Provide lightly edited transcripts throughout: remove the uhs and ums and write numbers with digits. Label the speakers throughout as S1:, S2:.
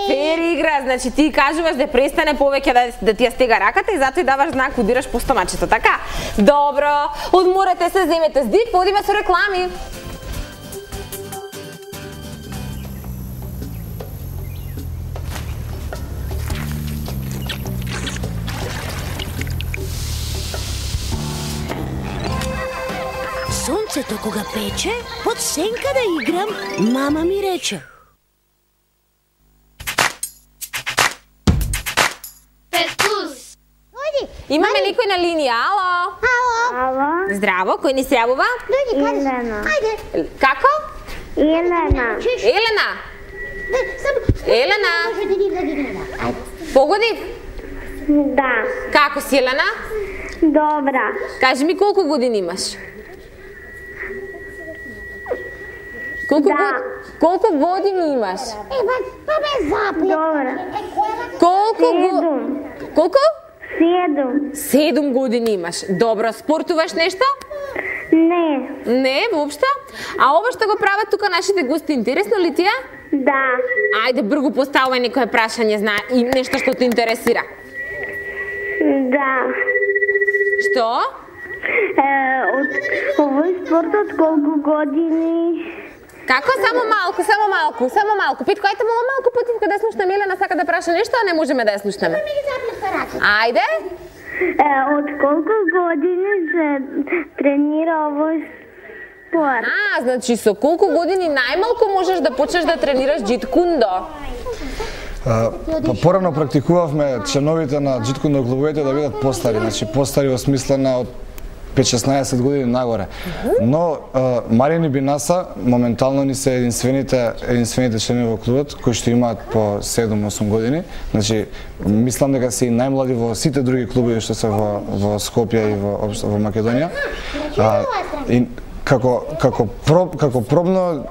S1: Фер игра, значи ти кажуваш да престане повеќе да ти ја стега раката и затоа и даваш знак, удираш по стомачето, така? Добро, одморете се, земете здив, одиме со реклами.
S2: Сонцето кога пече, под сенка да играм, мама ми рече.
S1: Имаме никој на линија, ало?
S3: Ало.
S1: Здраво, кој ни се јавува?
S3: Елена.
S1: Како?
S3: Елена.
S1: Елена? Елена? Погодив?
S3: Да.
S1: Како си, Елена?
S3: Добра.
S1: Кажи ми колку години имаш? Колку години имаш?
S3: Добра.
S1: Колку?
S3: 7.
S1: 7 години имаш. Добро, спортуваш нешто?
S3: Не.
S1: Не, воопшто? А ова што го прават тука нашите гости, интересно ли ти е?
S3: Да.
S1: Ајде, бргу поставувај некое прашање, знае, и нешто што те интересира.
S3: Да.
S1: Што?
S3: Од овој спорт од колку години?
S1: Како? Само малку. Питко, ајте малку потивка да ја слушнеме. Елена сака да праша нешто, а не можеме да ја слушнеме. Ајде.
S3: Од колку години се тренира овој спорт?
S1: Значи со колку години најмалку можеш да почнеш да тренираш джит-кундо?
S4: Порано практикувавме членовите на джит-кундо клубовите да бидат постари, значи постари во смисла на од 5-16 години нагоре. Но Марини Бинаса моментално ни се единствените членови во клубот кои што имаат по 7-8 години. Значи мислам дека се и најмлади во сите други клубови што се во Скопје и во Македонија. И како пробно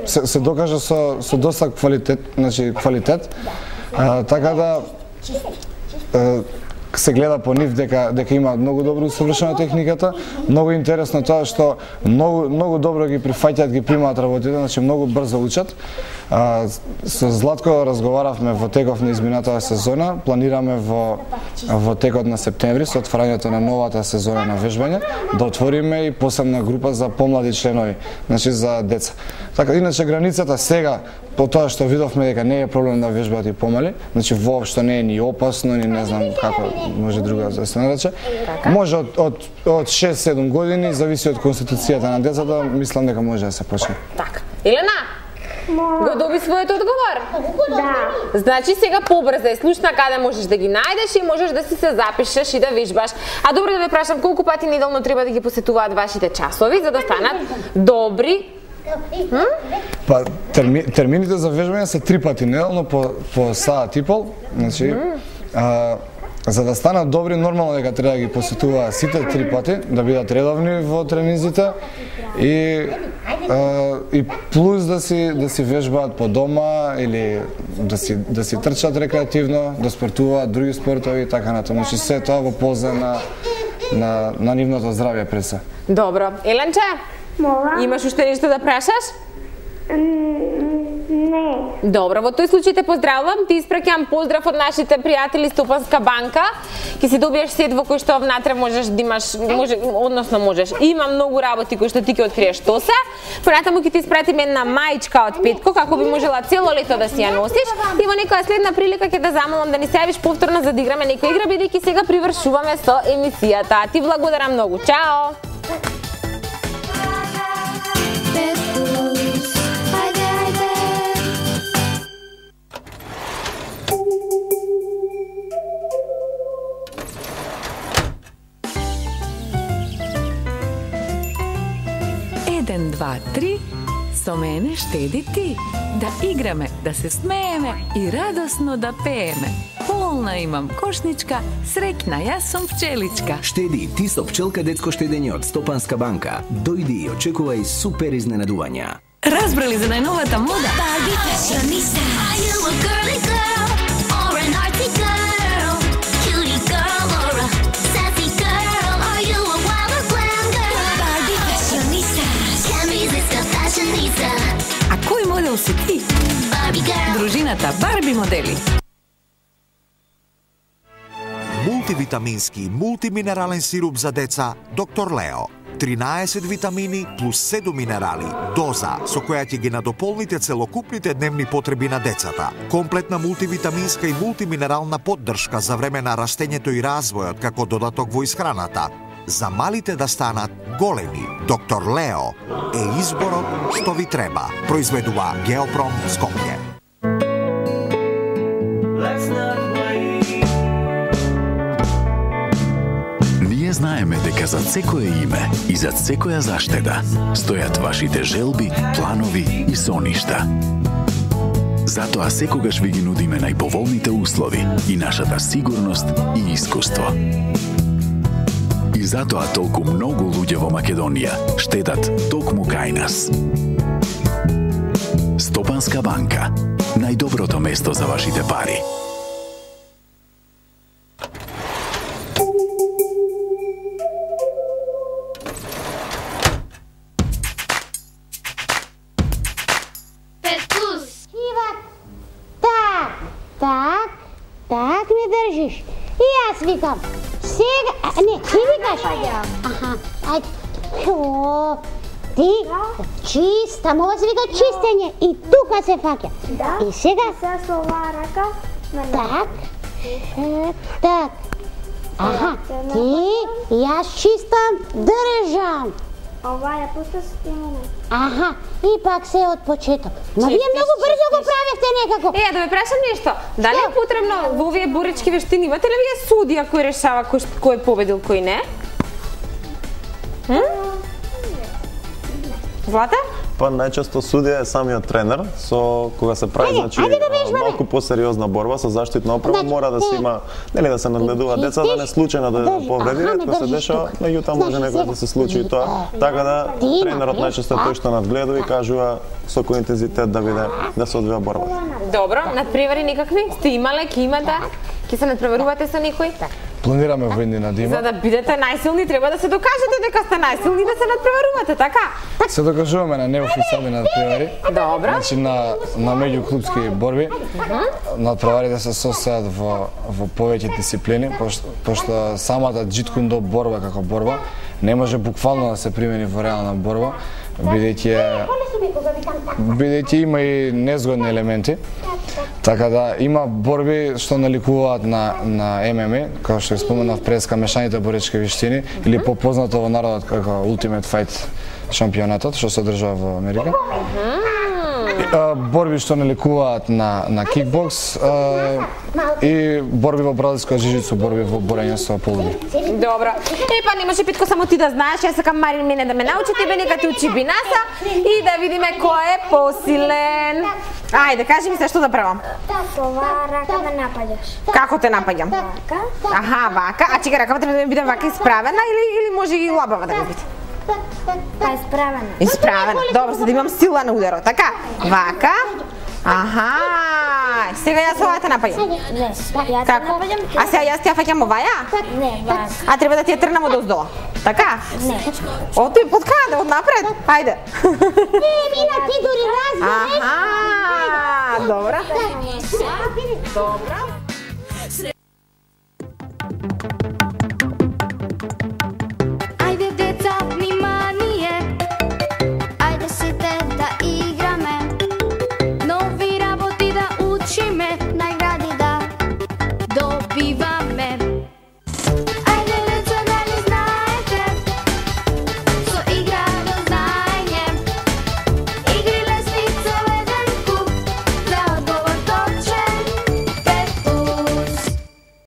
S4: се докажа со доста квалитет, така да се гледа по нив дека има многу добро усовршена техниката. Многу интересно тоа што многу добро ги прифаќаат, ги примаат работите, значи многу брзо учат. Со Златко разговаравме во теков на изминатата сезона, планираме во текот на септември со отварањето на новата сезона на вежбање да отвориме и посебна група за помлади членови, значи за деца. Така иначе границата сега по тоа што видовме дека не е проблем да вежбаат и помали, значи воопшто не е ни опасно, ни не знам како може друга да се нарече. Може од 6-7 години, зависи од конституцијата на децата, мислам дека може да се почне.
S1: Така. Елена, го доби својот одговор?
S3: Да.
S1: Значи сега побрзај, слушна каде можеш да ги најдеш и можеш да си се запишеш и да вежбаш. А добро да ве прашам, колку пати неделно треба да ги посетуваат вашите часови за да станат добри?
S4: Па термините за вежбање се 3 пати неделно по саат и пол, значи за да станат добри нормално дека треба да ги посетуваат сите 3 пати, да бидат редовни во тренизите и плюс да си вежбаат по дома или да си трчат рекреативно, да спортуваат други спортови и така натаму. Значи се тоа во полза на нивното здравје пред се.
S1: Добро. Еленче?
S3: Мола?
S1: Имаш уште нешто да прашаш?
S3: Не.
S1: Добро, во тој случај те поздравувам, ти испраќам поздрав од нашите пријатели Стопанска банка. Ќе си добиеш сет во кој што внатре можеш да имаш, можеш. Има многу работи кои што ти ќе откриеш што се. Понатаму ќе ти испратиме една маичка од Петко како би можела цело лето да си ја носиш. И во некоја следна прилика ќе те замолам да ни се јавиш повторно за да играме некоја игра, бидејќи сега привршуваме со емисијата. Ти благодарам многу. Чао.
S5: Еден, два, три, со мене штеди ти. Да играме, да се смееме и радосно да пееме. Полна имам кошничка, среќна јас сум пчеличка.
S6: Штеди ти со пчелка детско штедење од Стопанска банка. Дојди и очекувај супер изненадувања.
S5: Разбрали за најновата мода?
S2: Барби фашиониста. Are you a girly girl or an artsy girl? Cutie girl or a sassy girl? Are you a wild or glam girl? Барби фашиониста. Can't resist a fashionista.
S5: А кој модел си ти?
S2: Barbie girl.
S5: Дружината новината Барби модели.
S7: Мултивитамински и мултиминерален сируп за деца Доктор Лео. 13 витамини плюс 7 минерали. Доза со која ќе ги надополните целокупните дневни потреби на децата. Комплетна мултивитаминска и мултиминерална поддршка за време на растењето и развојот како додаток во исхраната. За малите да станат големи, Доктор Лео е изборот што ви треба. Произведува Геопром Скопје.
S8: Ние знаеме дека зад секое име и зад секоја заштеда стојат вашите желби, планови и соништа. Затоа секогаш ви ги нудиме најповолните услови и нашата сигурност и искуство. И затоа толку многу луѓе во Македонија штедат токму кај нас. Стопанска банка. Најдоброто место за вашите пари.
S9: Так ме држиш. И јас викам. Сега, не, ти викаш. Аха, ајде. О, ти чиста, мога се вика чистење и тука се фаќа. И сега
S3: Се со оваа рака.
S9: так. Так. Аха, ти јас чистам, држам.
S3: Ова ја пуста со тимена.
S9: Аха, и пак се од почеток. Но вие многу брзо го правевте некако.
S1: Да ме прашам нешто. Дали е потребно во овие боречки вештини, имате ли вие судија кој решава кој е победил, кој не? Злата?
S10: Па најчесто судија е самиот тренер, со кога се прави значи малку посериозна борба со заштитна опрема, мора да се има, нели да се нагледува деца да не случајно да повреди, ретко се дешава, меѓутоа може некој да се случи и тоа, така да тренерот најчесто тој што надгледува и кажува со кој интензитет да биде да се одвива борбата.
S1: Добро, надпревари никакви? Сте имале, ќе имате? Ќе се надпреварувате со некој?
S4: Планираме во иднина да има.
S1: За да бидете најсилни треба да се докажете дека сте најсилни да се надпреварувате, така?
S4: Се докажуваме на неофицијални надпревари.
S1: Добро.
S4: Значи на меѓуклубски борби. Надпреварите се состојат во повеќе дисциплини, пошто самата џиткундо борба како борба не може буквално да се примени во реална борба, бидејќи има и незгодни елементи. Така да има борби што наликуваат на ММА, како што споменав преска мешаните боречки вештини или попознато во народот како Ultimate Fight шампионатот што се одржува во Америка. Борби што наликуваат на кикбокс и борби во бразилска жижица, борби во борење со полуди.
S1: Добро. Па не може Питко само ти да знаеш, јас сакам Марин мене да ме научи, тебе нека ти учи бинаса и да видиме кој е посилен. Ајде, кажи ми се што да правам.
S3: Со оваа рака ме напаѓаш.
S1: Како те напаѓам?
S3: Вака.
S1: Аха, вака. А чека, ракава треба да биде вака исправена или може и лабава да биде?
S3: Па исправена.
S1: Исправена. Добро, за да имам сила на ударот. Така. Вака. Аха. Сега јас оваа те напаѓам.
S3: Не, ја те
S1: Како?
S3: напаѓам.
S1: А сега јас ти ја фаќам оваја?
S3: Не, вака.
S1: А треба да ти ја трнам од оздола. Така?
S3: Не.
S1: Од тој под каде? Од напред? Ајде.
S9: Мина, ти дури разбереш.
S1: Аха. Добро. Добро.